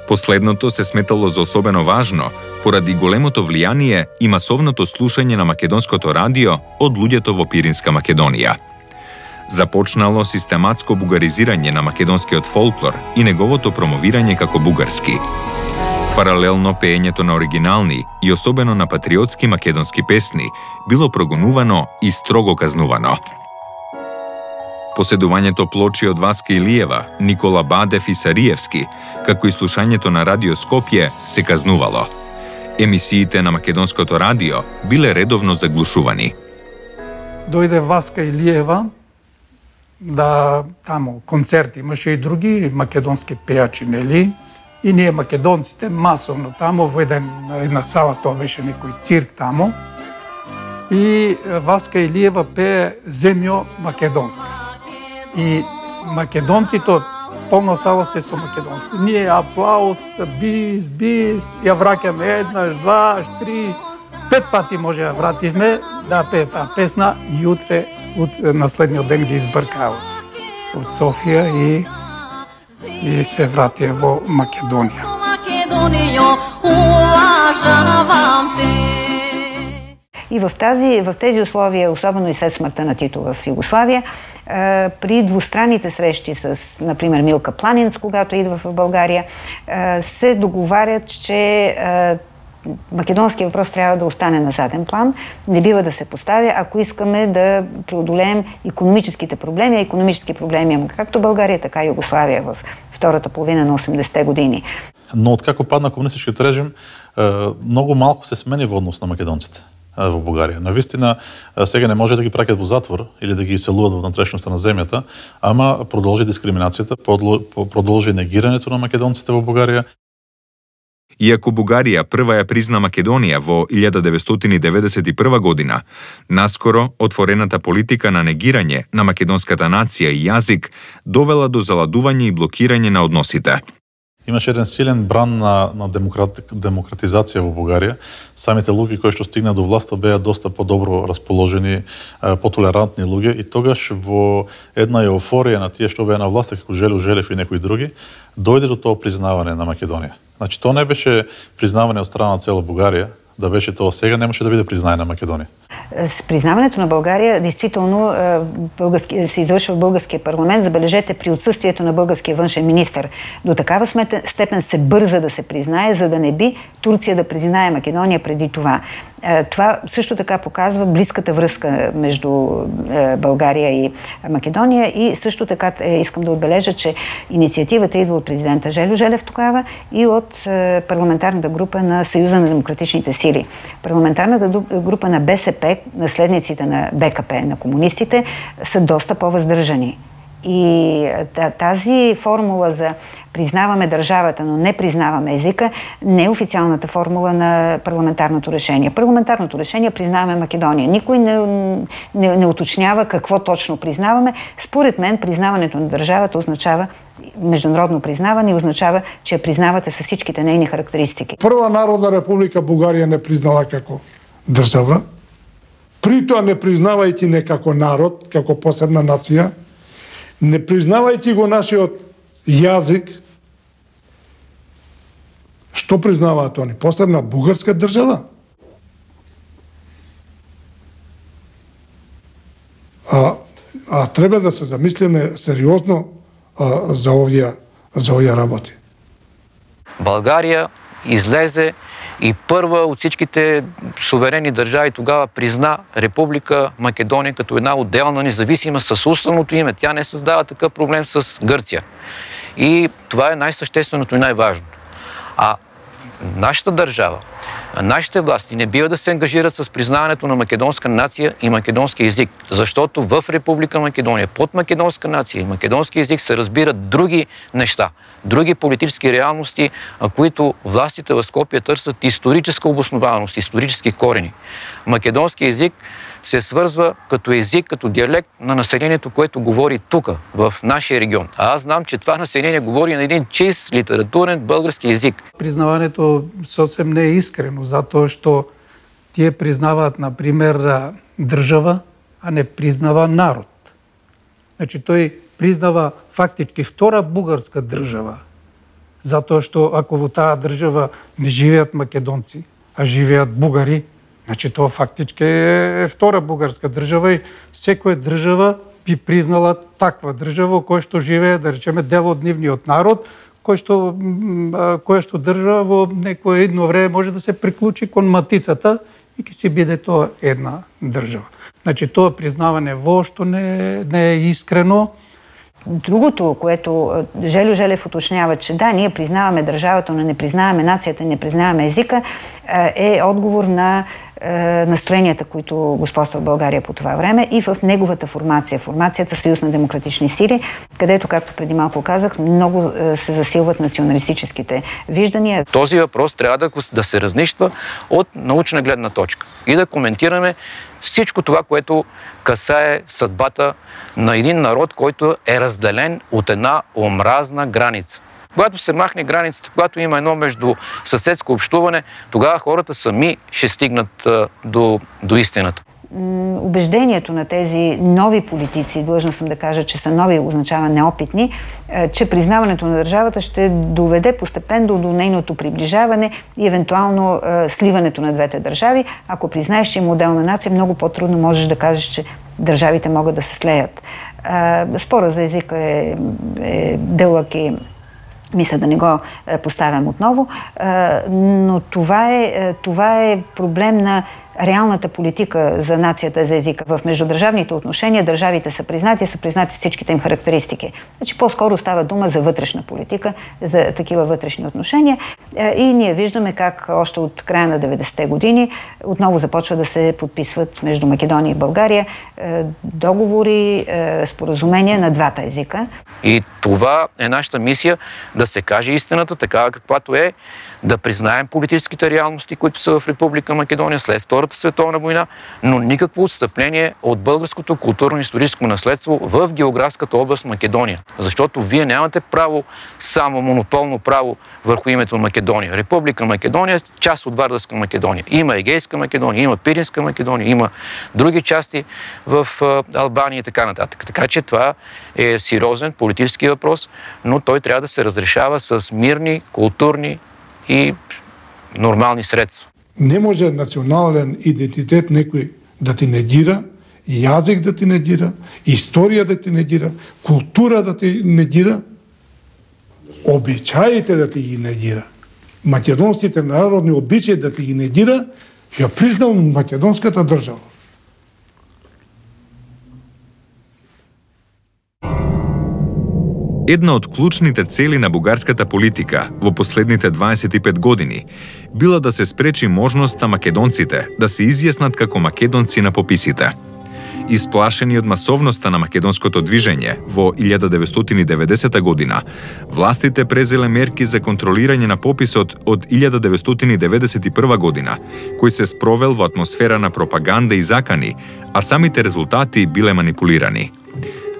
Последното се сметало за особено важно поради големото влијание и масовното слушање на македонското радио од луѓето во Пиринска Македонија. Започнало систематско бугаризирање на македонскиот фолклор и неговото промовирање како бугарски. Паралелно пеењето на оригинални и особено на патриотски македонски песни било прогонувано и строго казнувано. Поседувањето плочи од Васка Илиева, Никола Бадев и Сариевски, како и слушањето на Радио Скопје, се казнувало. Емисиите на македонското радио биле редовно заглушувани. Дојде Васка Илиева, тамо концерти, имаше и други македонски пејачи, нели? И ние македонците масовно тамо во една сала, тоа беше некој цирк тамо. И Васка Илиева пее Земјо македонска. И македонците, полна сала се со македонци. Ние аплауз, бис, ја враќаме еднаш, дваш, три, 5 пати може ја вративме да пее таа песна и утре на следниот ден ги избркаа од Софија и се вратија во Македонија. И в тези условия, особено и след смъртта на Тито в Югославия, при двустранните срещи с, например, Милка Планинц, когато идва в България, се договарят, че македонския въпрос трябва да остане на заден план, не бива да се поставя, ако искаме да преодолеем икономическите проблеми, а икономически проблеми има както България, така и Югославия в втората половина на 80-те години. Но откако падна комунистичкиот режим, многу малку се смени во однос на македонците. во Бугарија. Навистина, сега не може да ги праќат во затвор или да ги иселуваат во внатрешноста на земјата, ама продолжи дискриминацијата, продолжи негирањето на македонците во Бугарија. Иако Бугарија прва ја призна Македонија во 1991 година, наскоро отворената политика на негирање на македонската нација и јазик довела до заладување и блокирање на односите. Имаше еден силен бран на демократизација во Бугарија. Самите луѓе кои што стигна до власта беа доста подобро расположени, потолерантни луѓе и тогаш во една еуфорија на тие што беа на власта, како Желю Желев и некои други, дојде до тоа признавање на Македонија. Значи, тоа не беше признавање од страна на цела Бугарија, да беше тоа сега, немаше да биде признање на Македонија. С признаването на България, действително се извършва в българския парламент. Забележете, при отсъствието на българския външен министър. До такава степен се бърза да се признае, за да не би Турция да признае Македония преди това. Това също така показва близката връзка между България и Македония и също така искам да отбележа, че инициативата идва от президента Желю Желев тогава и от парламентарната група на Съюза на демократичните сили. Парламентарната група на БСП, наследниците на БКП, на комунистите, са доста по-въздържани. И тази формула за признаваме държавата, но не признаваме езика, не е официалната формула на парламентарното решение. Парламентарното решение признаваме Македония. Никой не уточнява какво точно признаваме. Според мен, признаването на държавата означава международно признаване и означава, че я признавате с всичките нейни характеристики. Прва Народна република Бугарија не признала како држава. При тоа не признавајќи не како народ, како посебна нација, не признавајќи го нашиот јазик, што признаваат они? Посебна бугарска држава? А треба да се замислиме сериозно за овие работи. България излезе и първа от всичките суверенни държави тогава призна Република Македония като една отделна независима с уставното име. Тя не създава такъв проблем с Гърция. И това е най-същественото и най-важното. А нашата държава, нашите власти не бива да се ангажират с признаването на македонска нация и македонски език, защото в Република Македония под македонска нация и македонски език се разбират други неща, други политически реалности, които властите в Скопие търсят историческа обоснованост, исторически корени. Македонски език се свързва като език, като диалект на населението, което говори тук, в нашия регион. А аз знам, че това население говори на един чист литературен български език. Признаването съвсем не е искрено, затоа што тие признаваат, например, држава, а не признава народ. Значи, тој признава фактички втора бугарска држава, затоа што ако во таа држава не живеат македонци, а живеат бугари, значи тоа фактички е втора бугарска држава и секоја држава би признала таква држава која што живее, да речеме, дел од нивниот народ, која што држава во некое едно време може да се приклучи кон матицата и ќе си биде тоа една држава. Значи тоа признавање воопшто не е искрено. Другото, което Желю Желев уточнява, че да, ние признаваме държавата, но не признаваме нацията, не признаваме езика, е отговор на настроенията, които господства в България по това време и в неговата формация, формацията Съюз на демократични сили, където, както преди малко казах, много се засилват националистическите виждания. Този въпрос трябва да се разнищва от научна гледна точка и да коментираме всичко това, което касае съдбата на един народ, който е разделен от една омразна граница. Когато се махне границата, когато има едно между съседско общуване, тогава хората сами ще стигнат до истината. Убеждението на тези нови политици, длъжна съм да кажа, че са нови, означава неопитни, че признаването на държавата ще доведе постепенно до нейното приближаване и евентуално сливането на двете държави. Ако признаеш, че има отделна нация, много по-трудно можеш да кажеш, че държавите могат да се слеят. Спора за езика е дълъг и мисля да не го поставям отново, но това е проблем на реалната политика за нацията, за езика. В междудържавните отношения държавите са признати всичките им характеристики. Значи по-скоро става дума за вътрешна политика, за такива вътрешни отношения и ние виждаме как още от края на 90-те години отново започва да се подписват между Македония и България договори, споразумения на двата езика. И това е нашата мисия, да се каже истината такава каквато е, да признаем политическите реалности, които са в Република Македония след Втората световна война, но никакво отстъпление от българското културно-историческо наследство в географската област Македония. Защото вие нямате право, само монополно право върху името Македония. Република Македония е част от Вардарска Македония. Има Егейска Македония, има Пиринска Македония, има други части в Албания и така нататък. Така че това е сериозен политически въпрос, но той трябва да се разрешава с мирни, културни и нормални средства. Не може национален идентитет некој да ти негира, јазик да ти негира, историја да ти негира, култура да ти негира, обичаите да ти ги негира. Македонските народни обичаи да ти ги негира, ја признал македонската држава. Една од клучните цели на бугарската политика во последните 25 години била да се спречи можноста македонците да се изјаснат како македонци на пописите. Исплашени од масовноста на македонското движење во 1990 година, властите презеле мерки за контролирање на пописот од 1991 година, кој се спровел во атмосфера на пропаганда и закани, а самите резултати биле манипулирани.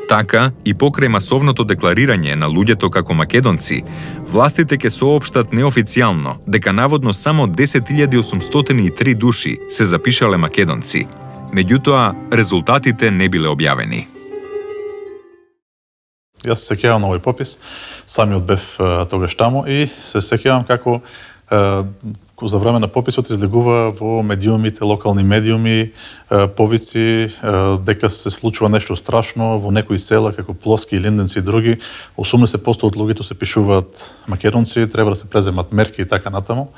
Така, и покрај масовното декларирање на луѓето како македонци, властите ќе соопштат неофицијално дека наводно само 10.803 души се запишале македонци. Меѓутоа, резултатите не биле објавени. Јас се сеќавам на овој попис, самиот бев тогаш таму и се сеќавам како за време на пописот излегува во медиумите, локални медиуми, повици дека се случува нешто страшно во некои села како Плоски, Линденци и други. 80% од луѓето се пишуваат македонци, треба да се преземат мерки и така натаму.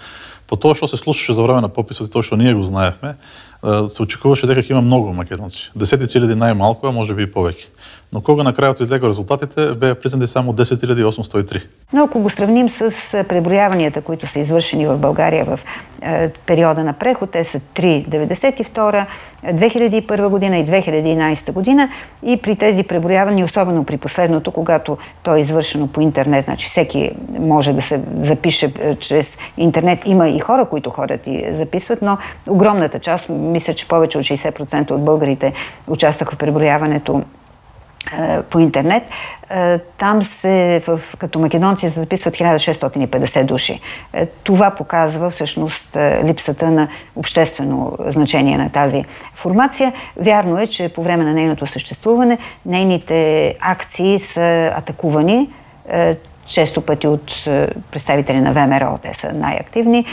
По тоа што се случуваше за време на пописот и тоа што ние го знаевме, се очекуваше дека ќе има многу македонци. 10.000 најмалку, а може би и повеќе. Но кога на крајот излега резултатите, беа признати само 10.803. Но ако го сравним с пребројавањата, които са извършени в България в периода на преход, те са 3.92, 2001 година и 2011 година и при тези преброявания, особено при последното, когато то е извършено по интернет, значи всеки може да се запише чрез интернет. Има и хора, които ходят и записват, но огромната част, мисля, че повече от 60% от българите участваха в преброяването по интернет. Там като македонци се записват 1650 души. Това показва всъщност липсата на обществено значение на тази формация. Вярно е, че по време на нейното съществуване нейните акции са атакувани често пъти от представители на ВМРО, те са най-активни,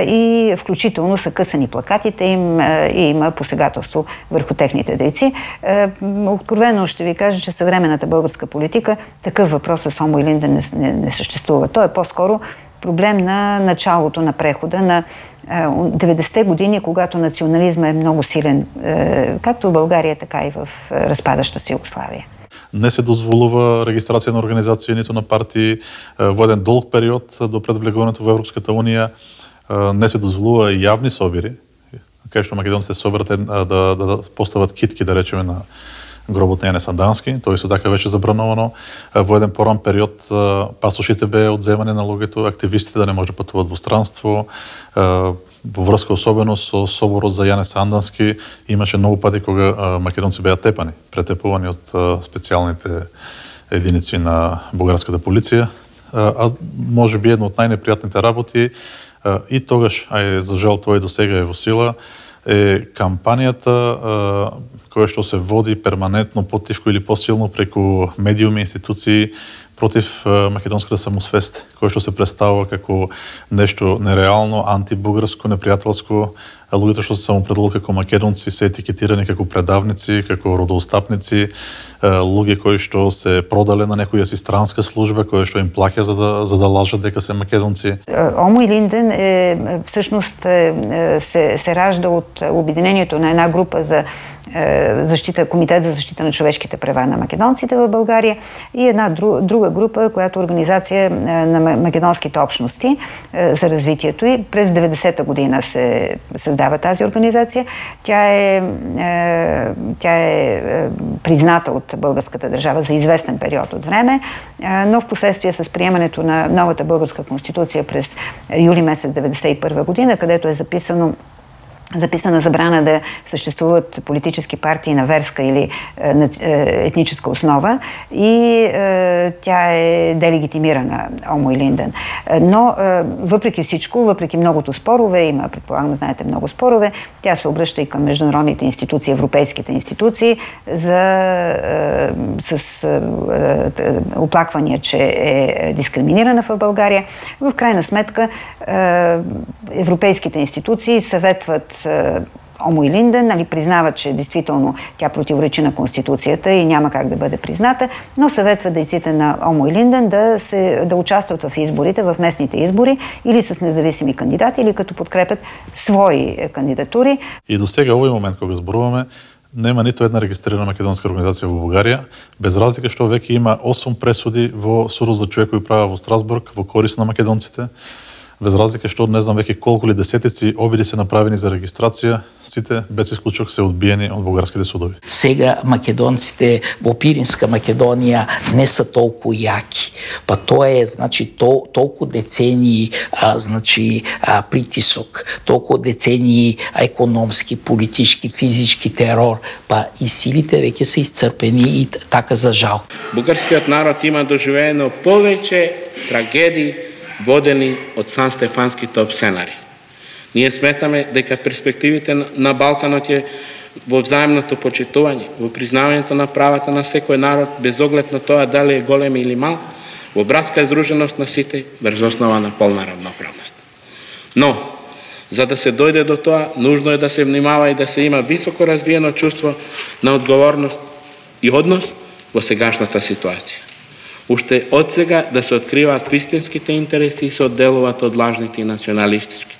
и включително са късани плакатите им и има посегателство върху техните дейци. Откровено ще ви кажа, че в съвременната българска политика такъв въпрос с Омо Илинден не съществува. Той е по-скоро проблем на началото на прехода на 90-те години, когато национализма е много силен, както в България, така и в разпадаща се Югославия. Не се дозволува регистрација на организации, нито на партии во еден долг период до пред влегувањето во Европската унија. Не се дозволува и јавни собири, кај што македонците соберат да постават китки, да речеме, на гробот на Јане Сандански. Тоа исто така беше забрановано. Во еден поран период пасошите беа одземани на луѓето, активистите да не може да патуваат во странство. Во врска особено со соборот за Јане Сандански имаше многу пати кога македонци беа тепани, претепувани од специјалните единици на бугарската полиција. А може би едно од најнепријатните работи и тогаш, а за жал тоа и до сега е во сила, е кампанијата која што се води перманентно, потивко или посилно преку медиуми, институции, против македонската самосвест, кој што се представува како нешто нереално, антибугарско, непријателско. Луѓето што се самопределуваат како македонци се етикетирани како предавници, како родоостапници, луѓе кои што се продале на некоја си странска служба, која што им плаќа за да лажат дека се македонци. Омо Илинден всъщност се ражда от обединението на една група за Комитет за защита на човешките права на македонците в България и една друга група, която е организация на македонските общности за развитието и през 90-та година се създава тази организация. Тя е призната от българската държава за известен период от време, но в последствие с приемането на новата българска конституция през юли месец 1991 година, където е записана забрана да съществуват политически партии на верска или етническа основа и тя е делегитимирана Омо Илинден. Но въпреки всичко, въпреки многото спорове, има, предполагам, знаете, много спорове, тя се обръща и към международните институции, европейските институции с оплаквания, че е дискриминирана в България. В крайна сметка европейските институции съветват Омо Илинден, признават, че действително тя противоречи на Конституцията и няма как да бъде призната, но съветва дейците на Омо Илинден да участват в изборите, в местните избори или с независими кандидати, или като подкрепят свои кандидатури. И до сега овој момент кога зборуваме, нема ниту една регистрирана македонска организација во Бугарија, без разлика што веќе има 8 пресуди во Судот за човекови права во Страсбург во корист на македонците. Без разлика што не знам веќе колку ли десетици обиди се направени за регистрација, сите без исклучок се одбиени од бугарските судови. Сега македонците во Пиринска Македонија не са толку јаки. Па тоа е, толку децении, притисок, толку децении економски, политички, физички терор, па и силите веќе се исцрпени и така за жал. Бугарскиот народ има доживеено повеќе трагедии водени од санстефанските обсенари. Ние сметаме дека перспективите на Балканот е во взаимното почитување, во признавањето на правата на секој народ, без оглед на тоа дали е голем или мал, во братска здруженост на сите, врз основа на полна равноправност. Но, за да се дојде до тоа, нужно е да се внимава и да се има високо развиено чувство на одговорност и однос во сегашната ситуација. Уште од сега да се откриваат вистинските интереси и се одделуваат од лажните и националистички.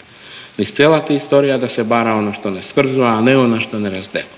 Низ целата историја да се бара оно што не сврзува, а не оно што не разделува.